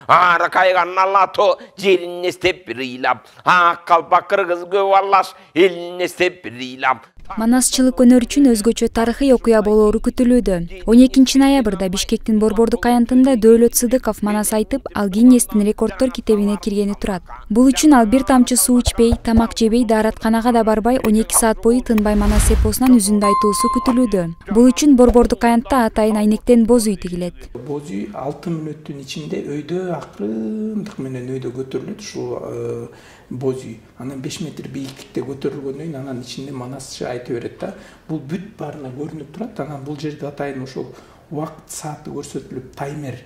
Ара кайган алато жерине степ рыйлап, ак калпак кыргыз көп алаш элине степ рыйлап. Манасчылык өнөр үчүн өзгөчө тарыхый окуя болоору күтүлүүдө. 12 ноябрда Бишкектин Борбордук аянтында Дөөлөт Сыдыков манас айтып, ал Гиннестин рекорддор китебине киргени турат. Бул үчүн ал бир тамчы суу ичпей, тамак жебей, дааратканага да барбай 12 саат бою тынбай манас эпосунан үзүндү айтуусу күтүлүүдө. Бул үчүн Борбордук аянтта атайын айнектен боз үй тигилет. Боз үй 6 мүнөттүн ичинде өйдө акырындык менен өйдө көтөрүлөт. Ушул боз үй анан 5 метр бийиктикте көтөрүлгөндөн кийин анан ичинде манасчы айта берет да. Бул бүт баарына көрүнүп турат. Анан бул жерде атайын ошол убакыт сааты көрсөтүлүп, таймер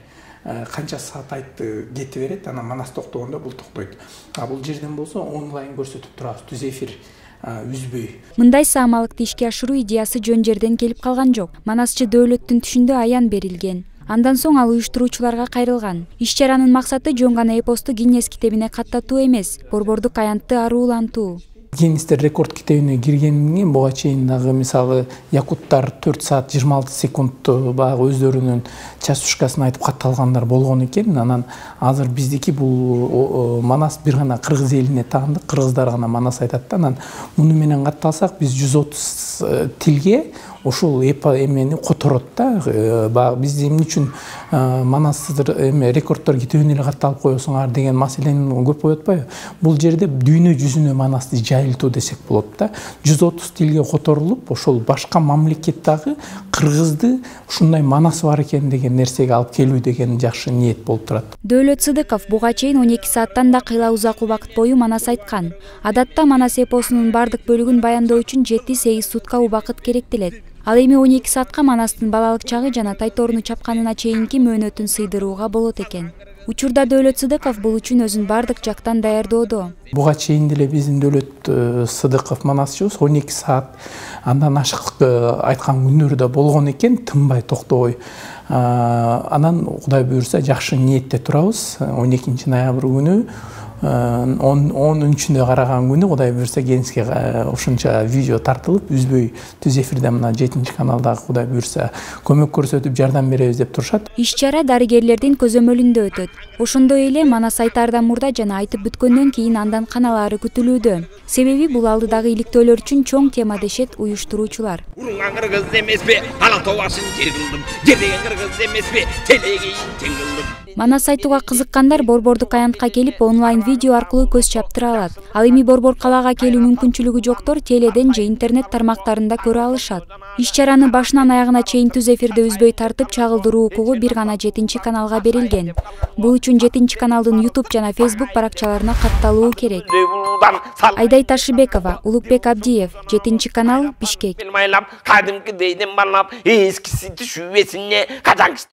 канча саат айтты кете берет. Анан манас токтогондо бул токтойт. А бул жерден болсо онлайн көрсөтүп турабыз, түз эфир үзбөй. Мындай саамалыкты ишке ашыруу идеясы жөн жерден келип калган жок. Манасчы Дөөлөттүн түшүндө аян берилген. Андан соң ал уюштуруучуларга кайрылган. Иш-чаранын максаты жөн гана эпосту Гиннес китебине каттатуу эмес, Борбордук аянтты аруулантуу. Гиннестин рекорд китебине киргенин буга чейин дагы мисалы якуттар 4 саат 26 секунд баягы өздөрүнүн часушкасын айтып катталгандар болгон экен. Анан азыр биздики бул манас бир гана кыргыз элине таандык, кыргыздар гана манас айтат да. Анан муну менен катталсак биз 130 тилге ушул эмени которот да. Баягы биз эмне үчүн манас рекорддор китебине эле катталып коесуңар деген маселени көп коюп атпайбы? Бул жерде дүйнө жүзүнө манасты жайылтуу десек болот да. 130 тилге которулуп, ошол башка мамлекеттеги кыргызды ушундай манас бар экен деген нерсеге алып келүү деген жакшы ниет болуп турат. Дөөлөт Сыдыков буга чейин 12 сааттан да кыйла узак убакыт бою манас айткан. Адатта манас эпосунун бардык бөлүгүн баяндоо үчүн 7-8 сутка убакыт керектелет. Ал эми 12 саатка манастын балалык чагы жана тайторуну чапканына чейинки мөөнөтүн сыйдырууга болот экен. Учурда Дөөлөт Сыдыков бул үчүн өзүн бардык жактан даярдоодо. Буга чейин деле биздин Дөөлөт Сыдыков манасчыбыз 12 саат андан ашык айткан күндөр да болгон экен, тынбай токтобой. Анан Кудай буйрса жакшы ниетте турабыз. 12 ноябрь күнү 10-үчүндө караган күнү Кудай буйрса Гениске ошонча видео тартылып, үзбөй түз эфирде мына 7-каналдагы Кудай буйрса көмөк көрсөтүп жардам беребиз деп турушат. Иш-чара дарыгерлердин көзөмөлүндө өтөт. Ошондой эле манас айтаардан мурда жана айтып бүткөндөн кийин андан каналаары күтүлүүдө. Себеби бул алдыдагы иликтөөлөр үчүн чоң тема дешет уюштуруучулар. Уруңан кыргыз эмеспи, алато башын жер кылдым. Жердеген кыргыз эмеспи, телегейин тең кылдым. Манас айтууга кызыккандар Борбордук аянтка келип онлайн видео аркылуу көз чаптыра алат. Ал эми Борбор калаага келүү мүмкүнчүлүгү жоктор теледен же интернет тармактарында көрө алышат. Иш-чараны башынан аягына чейин түз эфирде үзбөй тартып чагылдыруу укугу бир гана 7-каналга берилген. Бул үчүн 7-каналдын YouTube жана Facebook баракчаларына катталуу керек. Айдай Ташыбекова, Улукбек Абдиев, 7-канал, Бишкек. Кадимки дейден барлап, эскиси түшүүбесине